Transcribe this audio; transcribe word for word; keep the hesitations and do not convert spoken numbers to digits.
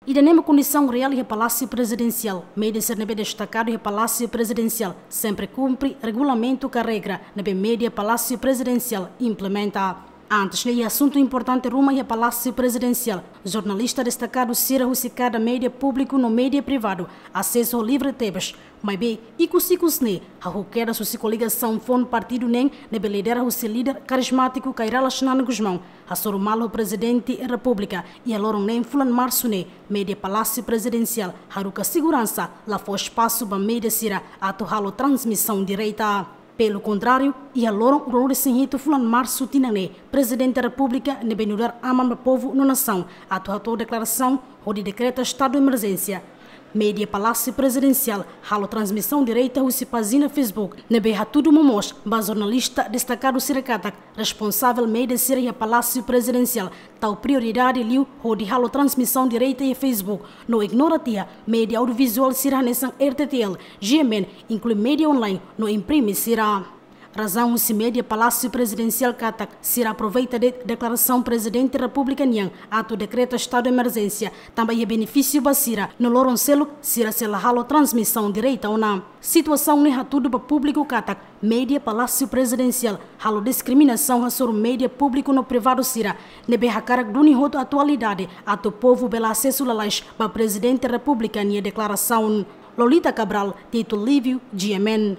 Ida-ne'e mak kondisaun reál iha Palásiu Prezidensiál. Média sira ne'ebé destakadu iha Palásiu Prezidensiál sempre kumpre regulamentu ka regra ne'ebé média Palásiu Prezidensiál implementa. Antes ne'e, iha asuntu importante ruma iha Palásiu Prezidensiál, jornalista destakadu sira husi kada média públiku no média privadu asesu ho livre tebes. Maibé, ikus-ikus ne'e, hahú kedas husi koligasaun foun partidu neen ne'ebé lidera husi líder karizmátiku Kay Rala Xanana Gusmão, hasoru malu Prezidente Repúblika. Iha loron neen fulan Marsu ne'e, média Palásiu Prezidensiál haruka seguransa, la fó espasu ba média sira atu halo transmisaun direta. Pelu kontráriu, iha loron ruanulu-resin-hitu fulan Marsu tinan ne'e, Prezidente Repúblika ne'ebé nu'udar aman ba povu no nasaun atu hato'o deklarasaun hodi dekreta estadu emerjénsia, média Palásiu Prezidensiál halo transmisaun direta husi pájina Facebook ne'ebé hatudu momoos ba jornalista destakadu sira katak responsavel média sira iha Palásiu Prezidensiál tau prioridade liu hodi halo transmisaun direta iha Facebook, no ignora tiha média audiovizuál sira hanesan R T T L, G M N, inklui média online no imprime sira. Razaun husi média Palásiu Prezidensiál katak sira aproveita de'it deklarasaun Prezidente Repúblika nian atu dekreta estadu emerjénsia tanba iha benefísiu ba sira, no loron seluk sira sei la halo transmisaun direta ona. Situasaun ne'e hatudu ba públiku katak média Palásiu Prezidensiál halo diskriminasaun hasoru média públiku no privadu sira ne'ebé hakarak duni hotu atualidade atu povu bele asesu lalais ba Prezidente Repúblika nia deklarasaun. Lolita Cabral, Tito Lívio, G M N.